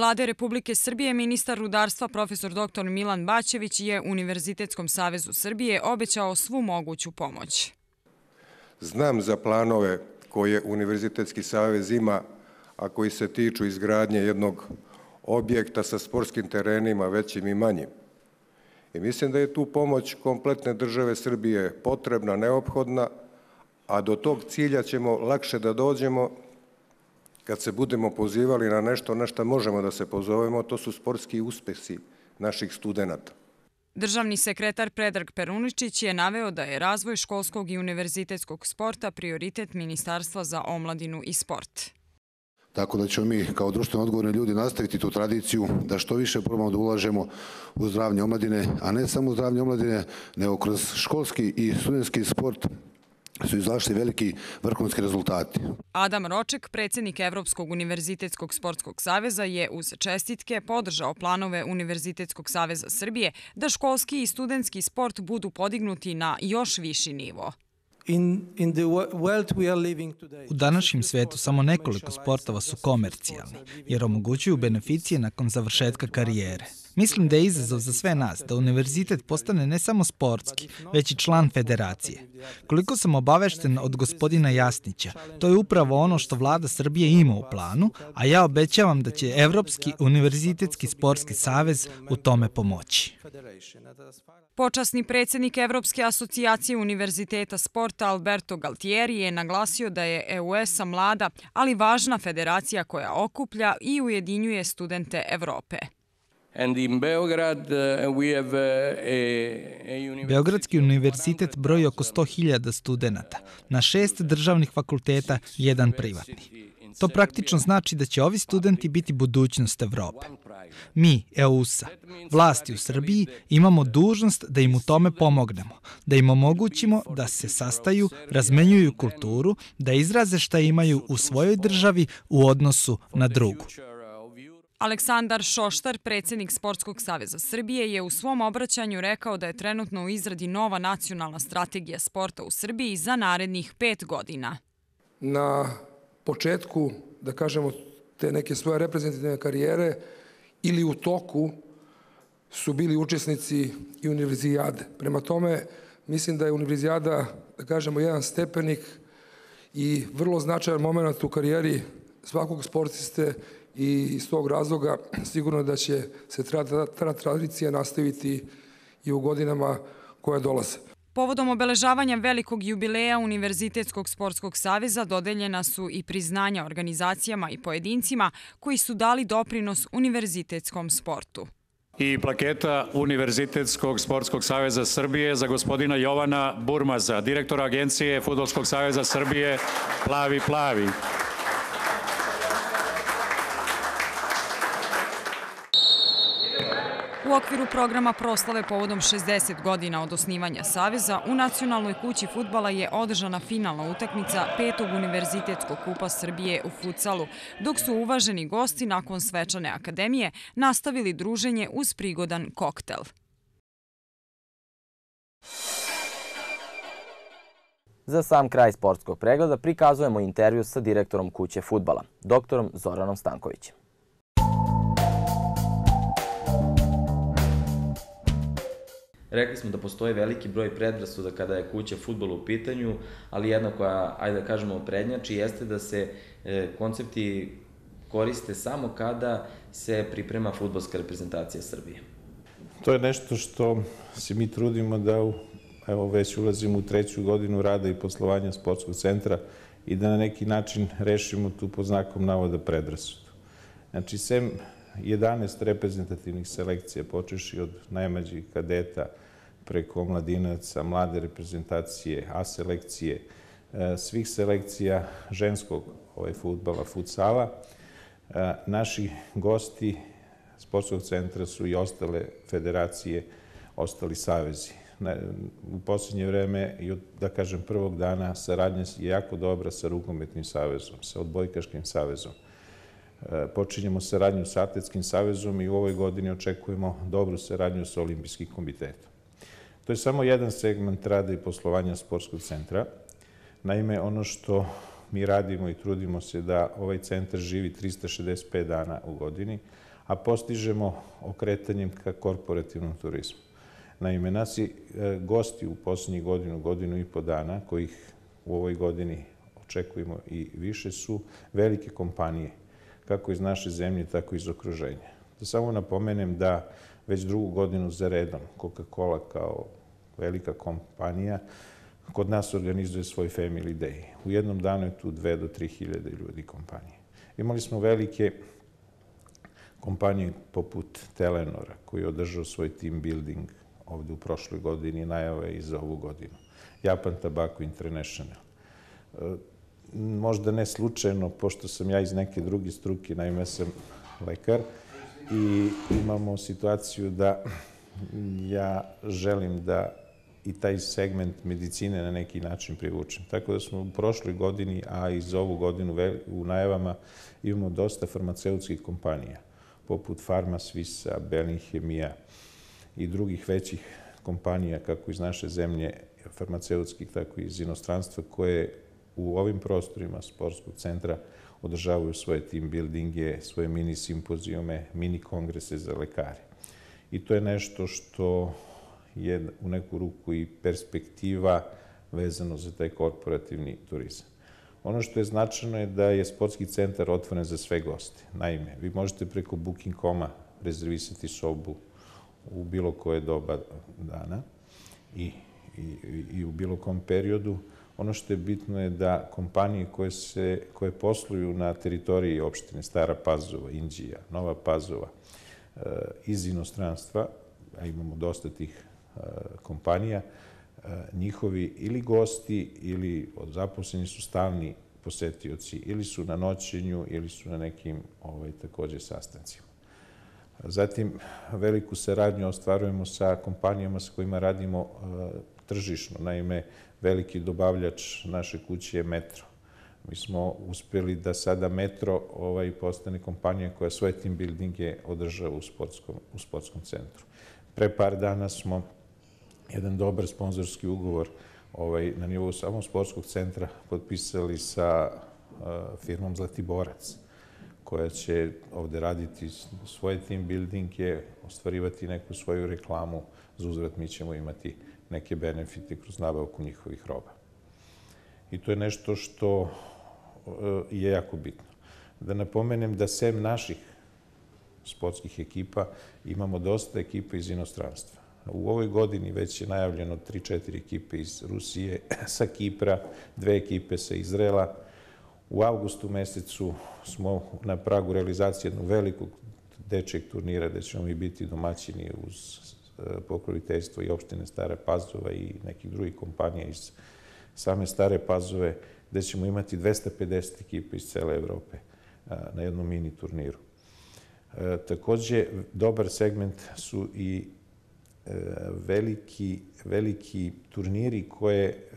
Vlade Republike Srbije ministar rudarstva profesor dr. Milan Bačević je Univerzitetskom savezu Srbije obećao svu moguću pomoć. Znam za planove koje Univerzitetski savez ima, a koji se tiču izgradnje jednog objekta sa sportskim terenima većim i manjim. I mislim da je tu pomoć kompletne države Srbije potrebna, neophodna, a do tog cilja ćemo lakše da dođemo kad se budemo pozivali na nešto na što možemo da se pozovemo, to su sportski uspesi naših studenata. Državni sekretar Predrag Peruničić je naveo da je razvoj školskog i univerzitetskog sporta prioritet Ministarstva za omladinu i sport. Tako da ćemo mi kao društveno odgovorni ljudi nastaviti tu tradiciju da što više probamo da ulažemo u zdravlje omladine, a ne samo u zdravlje omladine, nego kroz školski i studentski sport su izašli veliki vrhunski rezultati. Adam Roček, predsjednik Evropskog univerzitetskog sportskog saveza, je uz čestitke podržao planove Univerzitetskog saveza Srbije da školski i studentski sport budu podignuti na još viši nivo. U današnjem svijetu samo nekoliko sportova su komercijalni, jer omogućuju beneficije nakon završetka karijere. Mislim da je izazov za sve nas da univerzitet postane ne samo sportski, već i član federacije. Koliko sam obavešten od gospodina Jasnića, to je upravo ono što Vlada Srbije ima u planu, a ja obećavam da će Evropski univerzitetski sportski savez u tome pomoći. Počasni predsjednik Evropske asocijacije univerziteta sporta Alberto Galtieri je naglasio da je EUESA mlada, ali važna federacija koja okuplja i ujedinjuje studente Evrope. Beogradski univerzitet broji oko 100.000 studenata, na 6 državnih fakulteta i 1 privatni. To praktično znači da će ovi studenti biti budućnost Evrope. Mi, EUSA, vlasti u Srbiji, imamo dužnost da im u tome pomognemo, da im omogućimo da se sastaju, razmenjuju kulturu, da izraze šta imaju u svojoj državi u odnosu na drugu. Aleksandar Šoštar, predsjednik Sportskog saveza Srbije, je u svom obraćanju rekao da je trenutno u izradi nova nacionalna strategija sporta u Srbiji za narednih 5 godina. Na početku, da kažemo, te neke svoje reprezentativne karijere ili u toku su bili učesnici i univerzijade. Prema tome, mislim da je univerzijada, da kažemo, jedan stepenik i vrlo značajan moment u karijeri svakog sportiste i iz tog razloga sigurno da će se ta tradicija nastaviti i u godinama koje dolaze. Povodom obeležavanja velikog jubileja Univerzitetskog sportskog saveza dodeljena su i priznanja organizacijama i pojedincima koji su dali doprinos univerzitetskom sportu. I plaketa Univerzitetskog sportskog saveza Srbije za gospodina Jovana Burmaza, direktora Agencije Fudbalskog saveza Srbije Plavi Plavi. U okviru programa proslave povodom 60 godina od osnivanja Saveza, u Nacionalnoj kući fudbala je održana finalna utakmica 5. Univerzitetskog kupa Srbije u futsalu, dok su uvaženi gosti nakon svečane akademije nastavili druženje uz prigodan koktel. Za sam kraj sportskog pregleda prikazujemo intervju sa direktorom kuće fudbala, doktorom Zoranom Stankovićem. Rekli smo da postoji veliki broj predrasuda kada je kuća fudbala u pitanju, ali jedna koja, ajde da kažemo, prednjači jeste da se koncepti koriste samo kada se priprema fudbalska reprezentacija Srbije. To je nešto što se mi trudimo da, evo već ulazimo u 3. godinu rada i poslovanja sportskog centra i da na neki način rešimo tu pod znakom navoda predrasudu. Znači, sem 11 reprezentativnih selekcija, počeši od najmlađih kadeta preko omladinaca, mlade reprezentacije, A selekcije, svih selekcija ženskog fudbala, futsala. Naši gosti sportskog centra su i ostale federacije, ostali savezi. U posljednje vreme, da kažem prvog dana, saradnja je jako dobra sa rukometnim savezom, sa odbojkaškim savezom. Počinjemo saradnju sa Atletskim savezom i u ovoj godini očekujemo dobru saradnju sa Olimpijskim komitetom. To je samo jedan segment rada i poslovanja sportskog centra. Naime, ono što mi radimo i trudimo se da ovaj centar živi 365 dana u godini, a postižemo okretanjem ka korporativnom turizmu. Naime, naši gosti u poslednjih godinu i po dana, kojih u ovoj godini očekujemo i više, su velike kompanije, kako iz naše zemlje, tako i iz okruženja. Da samo napomenem da već drugu godinu za redom Coca-Cola kao velika kompanija kod nas organizuje svoj Family Day. U jednom danu je tu 2 do 3 hiljade ljudi kompanije. Imali smo velike kompanije poput Telenora, koji je održao svoj team building ovde u prošloj godini, najava je i za ovu godinu. Japan Tobacco International. Možda ne slučajno, pošto sam ja iz neke druge struke, naime sam lekar, i imamo situaciju da ja želim da i taj segment medicine na neki način privučem. Tako da smo u prošloj godini, a i za ovu godinu u najavama imamo dosta farmaceutskih kompanija, poput Pharma Suisse, Bellinghemija i drugih većih kompanija, kako iz naše zemlje, farmaceutskih, tako i iz inostranstva, koje u ovim prostorima sportskog centra održavaju svoje team buildinge, svoje mini simpozijume, mini kongrese za lekare. I to je nešto što je u neku ruku i perspektiva vezano za taj korporativni turizam. Ono što je značajno je da je sportski centar otvoren za sve goste. Naime, vi možete preko Booking.com-a rezervisati sobu u bilo koje doba dana i u bilo kom periodu. Ono što je bitno je da kompanije koje posluju na teritoriji opštine Stara Pazova, Inđija, Nova Pazova, iz inostranstva, a imamo dosta tih kompanija, njihovi ili gosti ili zaposleni su stalni posetioci, ili su na noćenju, ili su na nekim takođe sastancima. Zatim, veliku saradnju ostvarujemo sa kompanijama sa kojima radimo tržišno. Naime, veliki dobavljač naše kuće je Metro. Mi smo uspeli da sada Metro postane kompanija koja svoje team buildinge održava u sportskom centru. Pre par dana smo jedan dobar sponzorski ugovor na nivou samog sportskog centra potpisali sa firmom Zlatiborac, koja će ovde raditi svoje team buildinge, ostvarivati neku svoju reklamu. Za uzvrat mi ćemo imati neke benefite kroz nabavku njihovih roba. I to je nešto što je jako bitno. Da napomenem da sem naših sportskih ekipa imamo dosta ekipa iz inostranstva. U ovoj godini već je najavljeno 3-4 ekipe iz Rusije, sa Kipra, 2 ekipe sa Izraela. U avgustu mesecu smo na pragu realizacije jednog velikog dečijeg turnira gde ćemo i biti domaćini uz pokroviteljstvo i opštine Stare Pazova i nekih drugih kompanija iz same Stare Pazove, gde ćemo imati 250 ekipa iz cele Evrope na jednom mini turniru. Takođe, dobar segment su i veliki turniri koje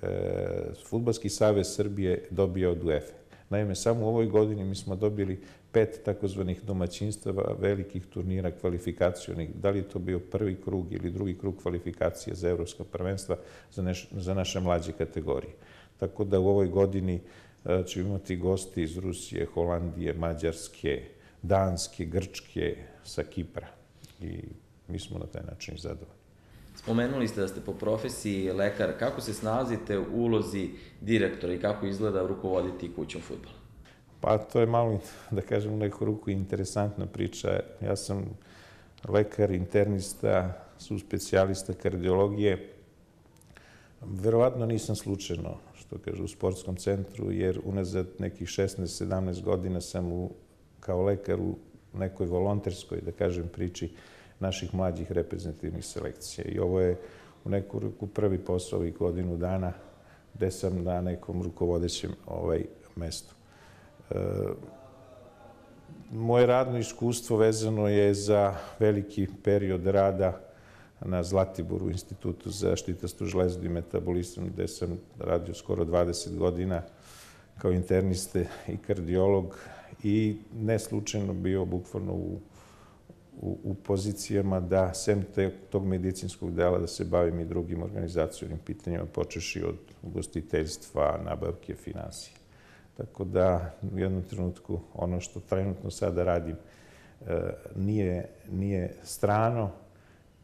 Fudbalski savez Srbije dobija od UEFA. Naime, samo u ovoj godini mi smo dobili 5 takozvanih domaćinstava velikih turnira kvalifikacionih. Da li je to bio prvi krug ili drugi krug kvalifikacija za evropska prvenstva za naše mlađe kategorije. Tako da u ovoj godini ćemo imati gosti iz Rusije, Holandije, Mađarske, Danske, Grčke, sa Kipra. I mi smo na taj način zadovoljni. Spomenuli ste da ste po profesiji lekar. Kako se snalazite u ulozi direktora i kako izgleda rukovoditi kućom fudbala? Pa to je malo, da kažem, u neku ruku interesantna priča. Ja sam lekar, internista, subspecijalista kardiologije. Verovatno nisam slučajno, što kaže, u sportskom centru, jer unazad nekih 16-17 godina sam kao lekar u nekoj volonterskoj, da kažem, priči naših mlađih reprezentativnih selekcija. I ovo je u neku ruku prvi posao ovih godinu dana gde sam na nekom rukovodećem mestu. Moje radno iskustvo vezano je za veliki period rada na Zlatiboru, Institutu za zaštitastu železu i metabolizam, gde sam radio skoro 20 godina kao interniste i kardiolog i ne slučajno bio bukvalno u pozicijama da, sem tog medicinskog dela, da se bavim i drugim organizacijnim pitanjima, počeši od ugostiteljstva, nabavke, finansije. Tako da u jednom trenutku ono što trenutno sada radim nije strano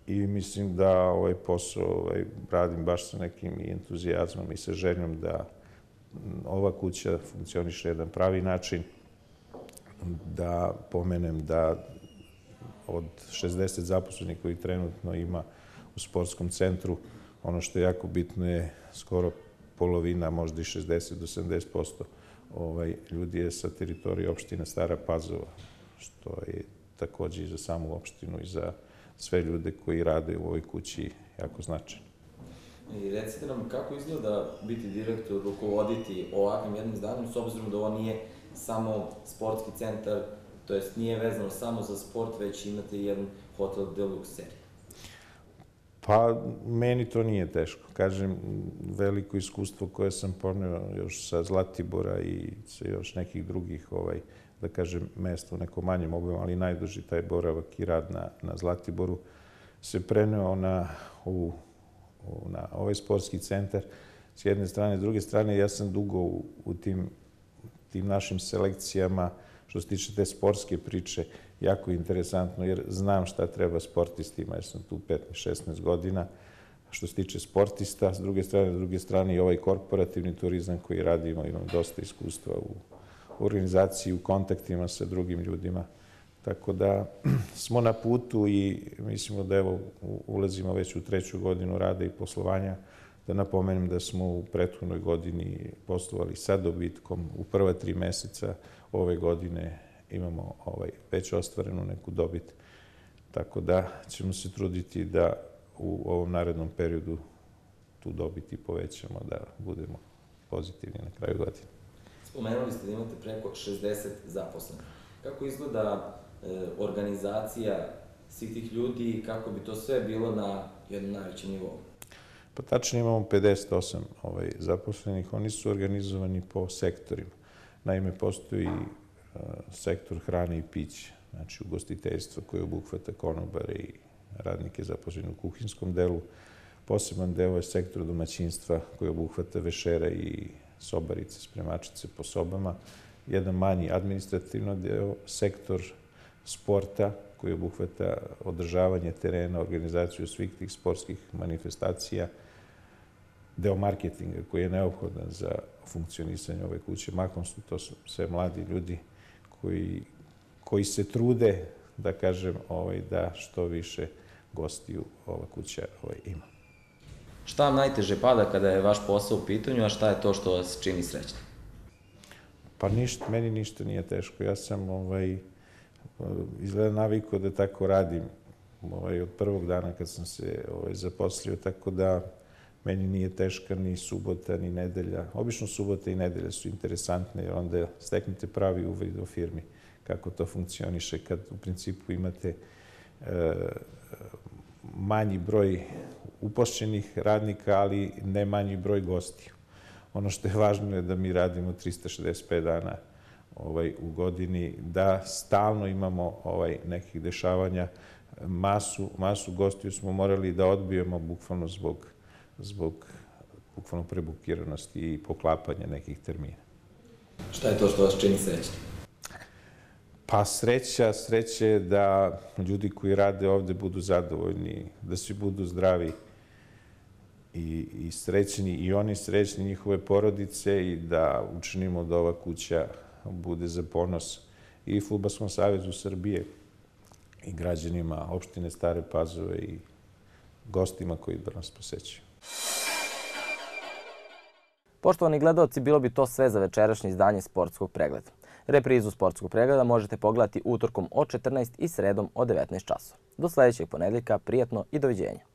i mislim da ovaj posao radim baš sa nekim entuzijazmom i sa željom da ova kuća funkcioniše na jedan pravi način. Da pomenem da od 60 zaposlenih koji trenutno ima u sportskom centru, ono što je jako bitno je skoro polovina, možda i 60 do 70% ljudi je sa teritorije opštine Stara Pazova, što je takođe i za samu opštinu i za sve ljude koji rade u ovoj kući jako značajno. I recite nam kako izgleda biti direktor, rukovoditi ovakvim jednim zdanjem, s obzirom da ovo nije samo sportski centar, to jest nije vezano samo za sport, već imate jedan hotel deluxe seriju. Pa, meni to nije teško. Kažem, veliko iskustvo koje sam poneo još sa Zlatibora i sa još nekih drugih, da kažem, mesta u nekom manjem obimu, ali najduži taj boravak i rad na Zlatiboru se preneo na ovaj sportski centar. S jedne strane, s druge strane, ja sam dugo u tim našim selekcijama, što se tiče te sportske priče, jako interesantno, jer znam šta treba sportistima, jer sam tu 15-16 godina. Što se tiče sportista, s druge strane i ovaj korporativni turizam koji radimo, imam dosta iskustva u organizaciji, u kontaktima sa drugim ljudima. Tako da smo na putu i mislimo da evo ulazimo već u 3. godinu rada i poslovanja. Da napomenem da smo u prethodnoj godini poslovali sa dobitkom. U prva 3 meseca ove godine imamo već ostvarenu neku dobit. Tako da ćemo se truditi da u ovom narednom periodu tu dobit i povećamo, da budemo pozitivni na kraju godine. Spomenuli ste da imate preko 60 zaposlenih. Kako izgleda organizacija svih tih ljudi i kako bi to sve bilo na jednom najvećem nivou? Pa tačno imamo 58 zaposlenih. Oni su organizovani po sektorima. Naime, postoji sektor hrane i pića, znači ugostiteljstvo koje obuhvata konobare i radnike zaposlene u kuhinskom delu. Poseban deo je sektor domaćinstva koji obuhvata vešera i sobarice, spremačice po sobama. Jedan manji administrativno deo, sektor sporta koji obuhvata održavanje terena, organizaciju svih tih sportskih manifestacija, deo marketinga koji je neophodan za funkcionisanje ove kuće. Mahom su to sve mladi ljudi koji se trude, da kažem, da što više gostiju ova kuća ima. Šta vam najteže pada kada je vaš posao u pitanju, a šta je to što vas čini srećnim? Pa ništa, meni ništa nije teško. Ja sam izgleda navikao da tako radim od prvog dana kad sam se zaposlio, tako da meni nije teška ni subota, ni nedelja. Obično subota i nedelja su interesantne, jer onda steknete pravi uvid o firmi, kako to funkcioniše, kad u principu imate manji broj upošljenih radnika, ali ne manji broj gostiju. Ono što je važno je da mi radimo 365 dana u godini, da stalno imamo nekih dešavanja. Masu gostiju smo morali da odbijemo bukvalno zbog bukvalno prebukiranosti i poklapanja nekih termina. Šta je to što vas čini srećnim? Pa sreća je da ljudi koji rade ovde budu zadovoljni, da svi budu zdravi i srećni, i oni srećni, njihove porodice, i da učinimo da ova kuća bude za ponos i Fudbalskom savezu Srbije i građanima opštine Stare Pazove i gostima koji nas posećuju. Poštovani gledaoci, bilo bi to sve za večerašnje izdanje Sportskog pregleda. Reprizu Sportskog pregleda možete pogledati utorkom od 14 i sredom od 19 časova. Do sledećeg ponedeljka, prijatno i doviđenja.